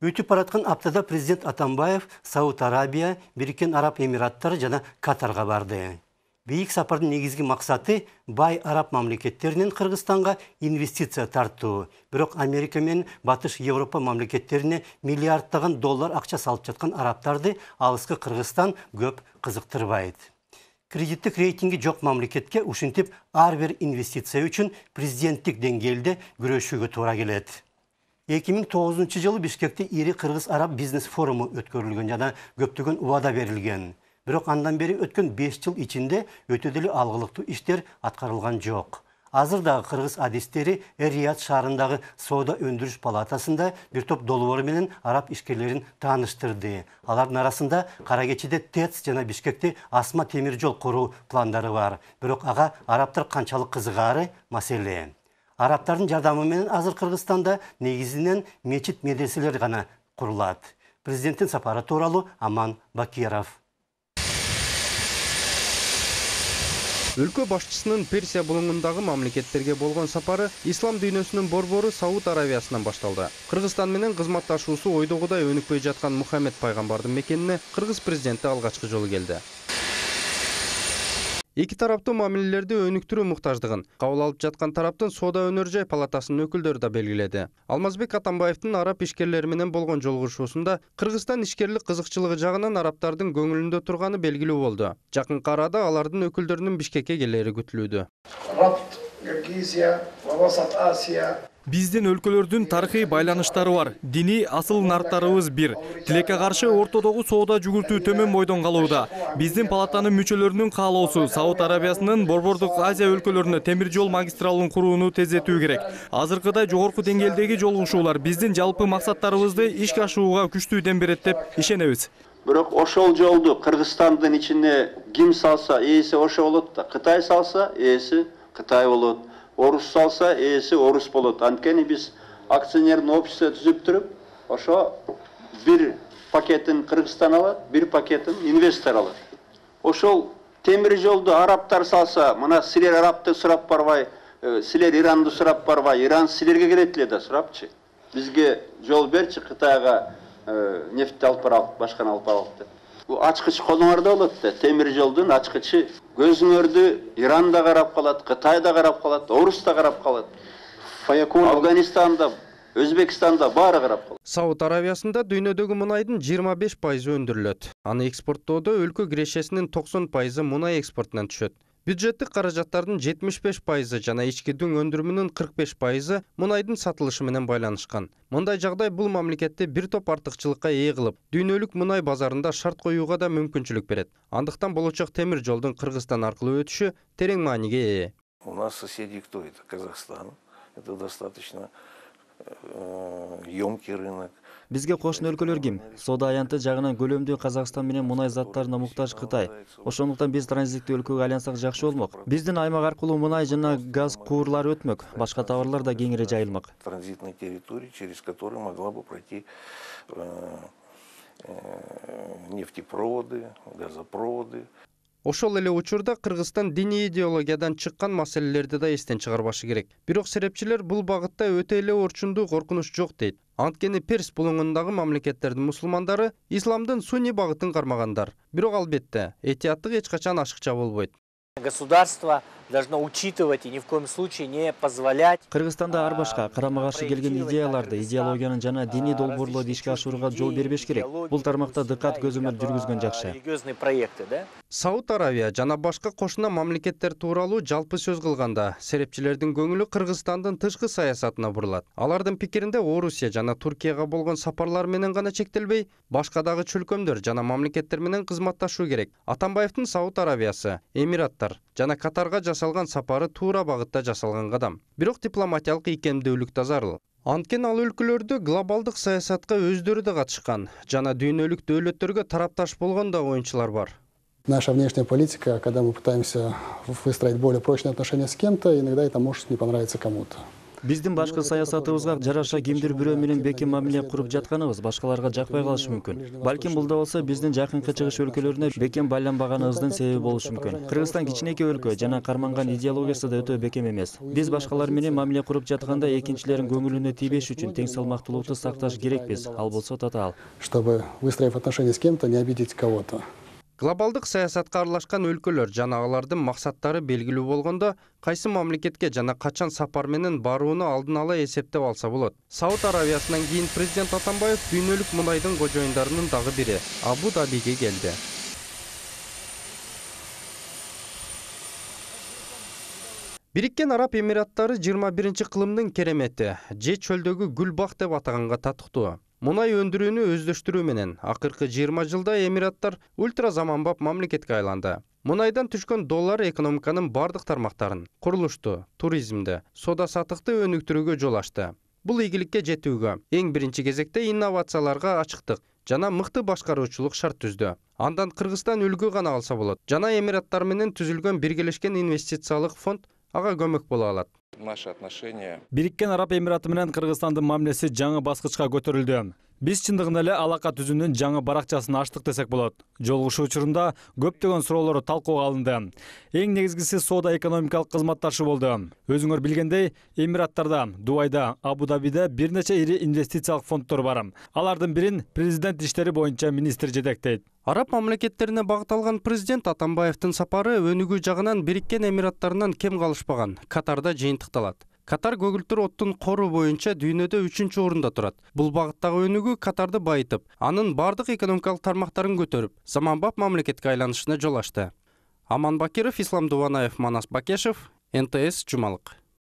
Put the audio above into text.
Өтүп бараткан аптада президент Атамбаев Сауд Арабия, Бириккен Араб Эмираттары жана Катарга барды. Бейик сапардын негизги максаты бай араб мамлекеттеринен Кыргызстанга инвестиция тартуу. Бирок Америка менен Батыш Европа мамлекеттерине миллиарддаган доллар акча салып жаткан арабтарды алыскы Кыргызстан көп кызыктырбайт. Кредиттик рейтинги жок мамлекетке ушинтип ар бир инвестиция үчүн президенттик деңгээлде күрөшүүгө туура келет. 2009 жылы Бишкекте ири Кыргыз-Араб бизнес форуму өткөрүлгөн жана көптөгөн убада берилген. Бирок андан бери өткөн 5 жыл ичинде өтө деле алгылыктуу иштер аткарылган жок. Азыр дагы кыргыз адистери Эр-Рияд шаарындагы соода өндүрүш палатасында бир топ долбоор менен араб ишкерлерин тааныштырды. Алардын арасында Кара Кечиде ТЭЦ жана Бишкекте асма темир жол куруу пландары бар. Бирок ага арабтар канчалык кызыгаары маселе. Арабтардын жардамы менен азыр Кыргызстанда негизинен мечит медреселер гана курулат. Президенттин сапары тууралуу Аман Бакиров. Өлкө башчысынын Персия булуңундагы мамлекеттерге болгон сапары ислам дүйнөсүнүн борбору Сауд Арабиясынан башталды. Кыргызстан менен кызматташуусу ойдогудай өнүкпөй жаткан Мухаммед пайгамбардын мекенине кыргыз президенти алгачкы жолу келди. Эки тараптуу мамилелерди өнүктүрүү муктаждыгын кабыл алып жаткан тараптын соода өнөр жай палатасынын өкүлдөрү да белгиледи. Алмазбек Атамбаевдин араб ишкерлери менен болгон жолугушуусунда Кыргызстан ишкерлик кызыкчылыгы жагынан арабтардын көңүлүндө турганы белгилүү болду. Жакынкы арада алардын өкүлдөрүнүн Бишкекке келери күтүлүүдө. Биздин өлкөлөрдүн тарыхый байланыштары бар. Диний асыл нарттарыбыз бир. Тилекке каршы ортодогу соода жүгүртүү төмөн бойдон калууда. Биздин палатанын мүчөлөрүнүн каалоосу Сауд Арабиясынын Борбордук Азия өлкөлөрүнө темир жол магистралын курууну тездетүү керек. Азыркыдай жогорку деңгээлдеги жолугушуулар биздин жалпы максаттарыбызды ишке ашырууга күчтүү дем берет деп ишенебиз. Бирок ошол жолду Кыргызстандын ичине ким салса, ээси ошо болот да. Кытай салса, ээси Кытай болот. Орус салса, ээси орус болот. Анткени биз акционердин общество түзүп туруп, ошо бир пакетин Кыргызстан алат, бир пакетин инвестор алат. Ошол темир жолду арабтар салса, мына силер арабты сурап барбай, силер Иранды сурап барбай, Иран силерге келет эле да сурапчы. Бизге жол берчи, Кытайга нефтти алып баралык, башканы алып баралык деп. Бул ачкыч колуңарда болот да, темир жолдун ачкычы. Көзүңөрдү Иран да карап калат, Кытай да карап калат, Орус да карап калат. Афганистанда, Өзбекстанда баары карап калат. Сауд Арабиясында дүйнөдөгү мунайдын 25% өндүрүлөт. Аны экспорттоодо өлкө кирешесинин 90% мунай экспортунан түшөт. Бюджеттик каражаттардын 75% жана ички дүң өндүрүмүнүн 45% мунайдын сатылышы менен байланышкан. Мындай жагдай бул мамлекетти бир топ артыкчылыкка ээ кылып, дүйнөлүк мунай базарында шарт коюуга да мүмкүнчүлүк берет. Андыктан болочок темир жолдун Кыргызстан аркылуу өтүшү терең мааниге ээ. У нас соседи кто это? Казахстан. Это достаточно ёмкий рынок. Бизге кошуна өлкөлөр ким? Соода аянты жагынан көлөмдүү Казакстан менен мунай заттарына муктаж Кытай. Ошондуктан биз транзиттүү өлкөгө айлансак жакшы болмок. Биздин аймак аркылуу мунай жана газ куурлары өтмөк. Башка товарлар да кеңири жайылмак. Транзитной территории, через которую могла бы пройти нефтепроводы, газопроводы. Ошол эле учурда Кыргызстан диний идеологиядан чыккан маселелерди да эстен чыгарбашы керек. Бирок серепчилер бул багытта өтө эле орчундуу коркунуч жок дейт. Анткени Перс булуңундагы мамлекеттердин мусулмандары исламдын сунни багытын кармагандар. Бирок албетте, этияттык эч качан ашыкча болбойт. Государство должно учитывать и ни в коем случае не позволять. Кыргызстанда ар башка карама-каршы келген идеяларды, идеологиянын жана диний долбоорлорду ишке ашырууга жол бербеш керек. Бул тармакта дыкат көзөмөл жүргүзгөн жакшы. Религиозные проекты, да? Сауд Арабия жана башка кошуна мамлекеттер тууралуу жалпы сөз кылганда, серепчилердин көңүлү Кыргызстандын тышкы саясатына бурулат. Алардын пикиринде Орусия жана Туркияга болгон сапарлар менен гана чектелбей, башка дагы чөлкөмдөр жана мамлекеттер менен кызматташуу керек. Атамбаевдин Сауд Арабиясы, Эмираттар жана Катарга жасалган сапары туура багытта жасалган кадам. Бирок дипломатиялык ийкемдүүлүк да зарыл. Анткени ал өлкөлөрдө глобалдык саясатка өздөрү да катышкан жана дүйнөлүк дөөлөттөргө тарапташ болгон да оюнчулар бар. Наша внешняя политика, когда мы пытаемся выстроить более прочные отношения с кем-то, иногда это может не понравиться кому-то. Биздин башкы саясатыбызга жараша кимдир бирөө менен бекем мамиле куруп жатканыбыз башкаларга жакпай калышы мүмкүн. Балким бул да болсо биздин жакынкы чыгыш өлкөлөрүнө бекем байланбаганыбыздын себеби болушу мүмкүн. Кыргызстан кичинекей өлкө жана карманган идеологиясы да өтө бекем эмес. Биз башкалар менен мамиле куруп жатканда экинчилердин көңүлүнө тийбеш үчүн тең салмактуулукту сакташ керекпиз. Ал болсо татаал. Чтобы, выстроив отношения с кем-то, не обидеть кого-то. Глобалдык саясатка аралашкан өлкөлөр жана алардын максаттары белгилүү болгондо кайсы мамлекетке жана качан сапар менен барууну алдын ала эсептеп алса болот. Сауд Арабиясынан кийин президент Атамбаев дүйнөлүк мунайдын кожоюндарынын дагы бири Абу-Дабиге келди. Бириккен Араб Эмираттары 21-кылымдын керемети, же чөлдөгү гүл бак деп атаганга татыктуу. Мунай өндүрүүнү өздөштүрүү менен акыркы 20 жылда Эмираттар ультра заманбап мамлекетке айланды. Мунайдан түшкөн доллар экономиканын бардык тармактарын, курулушту, туризмди, соода саттыкты өнүктүрүүгө жол ачты. Бул ийгиликке жетүүгө эң биринчи кезекте инновацияларга ачыктык жана мыкты башкаруучулук шарт түздү. Андан Кыргызстан үлгү гана алса болот. Жана Эмираттар менен түзүлгөн биргелешкен инвестициялык фонд ага көмөк боло алат. Наши отношения. Бириккен Араб Эмираты менен Кыргызстандын мамилеси жаңы баскычка көтөрүлдү. Биз чындыгында эле алака түзүүнүн жаңы баракчасын ачтык десек болот. Жолугушуу учурунда көптөгөн суроолор талкууга алынды. Эң негизгиси соода экономикалык кызматташуу болду. Өзүңөр билгендей, Эмираттарда, Дубайда, Абу-Дабиде бир нече ири инвестициялык фонддор бар. Алардын бирин президент иштери боюнча министр жетектейт. Араб мамлекеттерине багыт алган президент Атамбаевдин сапары өнүгүү жагынан Бириккен Эмираттарынан кем калышпаган Катарда жыйынтыкталат. Катар көгүлтүр оттун кору боюнча дүйнөдө 3-чү орунда турат. Бул багыттагы өнүгүү Катарды байытып, анын бардык экономикалык тармактарын көтөрүп, заманбап мамлекетке айланышына жол ачты. Аман Бакиров, Ислам Дуванаев, Манас Бакешев, НТС Жумалык.